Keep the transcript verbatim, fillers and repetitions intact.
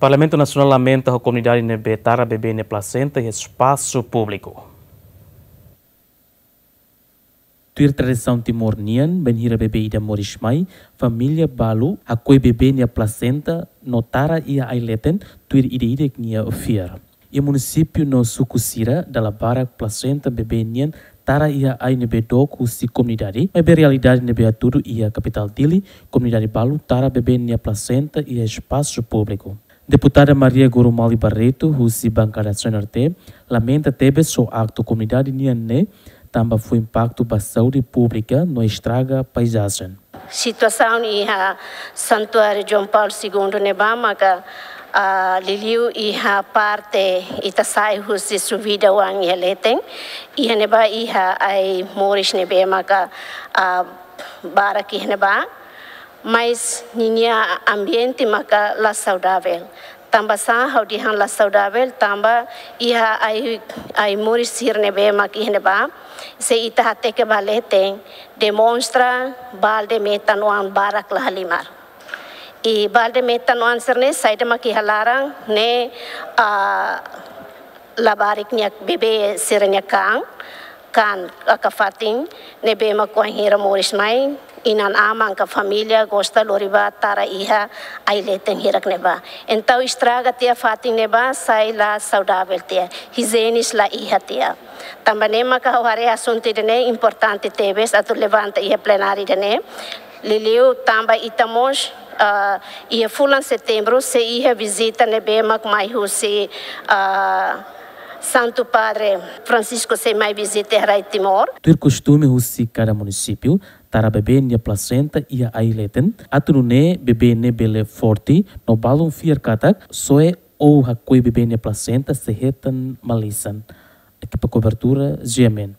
Parlamentu Nasionál lamenta ho komunidade ne'ebé tara bebé nia plasenta iha espasu públiku. Tuir tradisaun Timor nian, bainhira bebé ida moris mai, família balu hakoi bebé nia plasenta no tara iha ai leten, tuir ida-idak nia fiar. Iha munisípiu no suku sira, dala barak plasenta bebé nian tara iha ai ne'ebé dook husi komunidade, maibé realidade ne'ebé hatudu iha kapitál Dili, komunidade balu tara bebé nia plasenta iha espasu públiku. Deputada Maria Goromali Barreto, husi bankada C N R T, lamenta tebes ho aktu komunidade nian ne'e, tanba fó impaktu ba saúde públika no estraga paizajen. Situasaun iha Santuáriu João Paulo Segundo ne'ebá maka, ah, liuliu iha parte ita sai husi Suvida oan iha leten, iha ne'ebá iha ai moris ne'ebé maka, ah, barak iha ne'ebá, mas ninia ambiente maka la saudavel. Tanba sá ha'u dehan la saudavel, tanba iha ai, ai moris sira ne'ebé mak iha ne'ebá, se ita hateke ba leten, demonstra balde metan-oan barak la halimar. I balde metan-oan sira-ne'e saida mak iha laran ne'e, ah, labarik nia bebé sira-nia kaan, kaan ka fatin ne'ebé mak wainhira moris mai, inan-aman ka família gosta lori bá tara iha ai leten hirak ne'ebá. Entaun estraga tiha fatin ne'ebá, sai la saudavel tiha, ijiene la iha tiha. Tanba ne'e maka ha'u haree asuntu ida-ne'e importante tebes atu levanta iha plenária ida-ne'e. Liuliu tanba ita mós, ah, iha fulan Setembru sei iha vizita ne'ebé mak mai husi, ah, Santu Padre Francisco sei mai vizita iha rai Timor. Tuir kostume husi kada munisípiu, tara bebé nia plasenta iha ai leten, atu nune'e bebé ne'e bele forte, no balun fiar katak soe ou hakoi bebé nia plasenta sei hetan malisan. Ekipa kobertura, G M N.